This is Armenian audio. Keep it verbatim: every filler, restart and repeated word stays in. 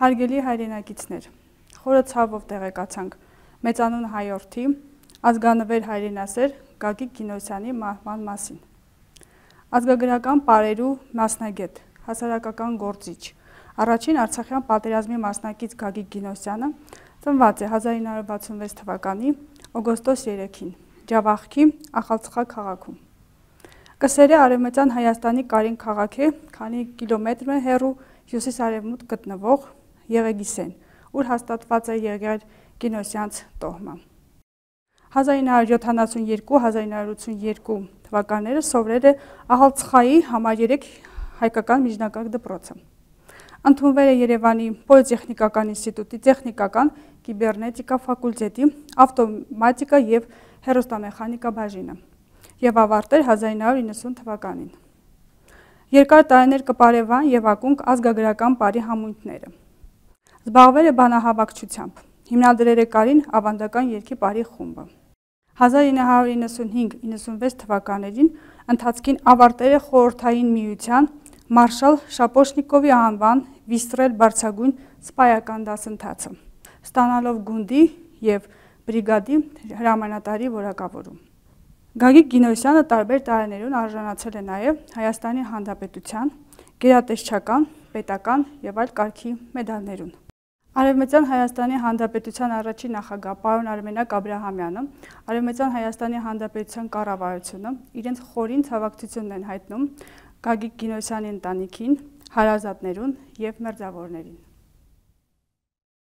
Հարգելի հայրենակիցներ, խորը ցավով տեղեկացանք մեծանուն հայորդի, ազգանվեր հայրենասեր Գագիկ Գինոսյանի մահվան մասին։ Ազգագրական պարերու մասնագետ, հասարակական գործիչ, առաջին Արցախյան պատերազմի մասնակից Գագիկ Գինոսյանը ծնված է հազար ինը հարյուր վաթսունվեց թվականի օգոստոս երեքին Ջավախքի Ախալցխա քաղաքում։ Կսեր է Արևմտյան Հայաստանի Կարին քաղաք է, քանի կիլոմետր է հեռու հյուսիս-արևմուտք գտնվող Եղեգիսեն, ուր հաստատված է եղել Գինոսյանց տոհմը։ հազար ինը հարյուր յոթանասունյերկու - հազար ինը հարյուր ութսունյերկու թվականները սովորել է Ախալցխայի համարյերեք հայկական միջնակարգ դպրոցը։ Ընդունվել է Երևանի Պոլիտեխնիկական ինստիտուտի տեխնիկական կիբեռնետիկա ֆակուլտետի ավտոմատիկա և հեռուստամեխանիկա բաժինը և ավարտել հազար ինը հարյուր իննսուն թվականին։ Երկար տարիներ կպարևան և ակունք ազգագրական պարի համույթները։ Զբաղվել է բանահավաքչությամբ, հիմնադրել է Կարին ավանդական երգի պարի խումբը։ հազար ինը հարյուր իննսունհինգ - իննսունվեց թվականներին ընթացքին ավարտել է Խորհրդային Միության մարշալ Շապոշնիկովի անվան Վիստրել բարձրագույն սպայական դասընթացը, ստանալով գունդի և բրիգադի հրամանատարի որակավորում։ Գագիկ Գինոսյանը տարբեր տարիներուն արժանացել է նաև Հայաստանի Հանրապետության գերատեսչական, պետական և այլ կարգի մեդալներուն։ Արևմտյան Հայաստանի Հանրապետության առաջին նախագահ պարոն Արմենակ Աբրահամյանը, Արևմտյան Հայաստանի Հանրապետության կառավարությունը իրենց խորին ցավակցությունն են հայտնում Գագիկ Գինոսյանի ընտանիքին, հարազատներուն և մերձավորներին։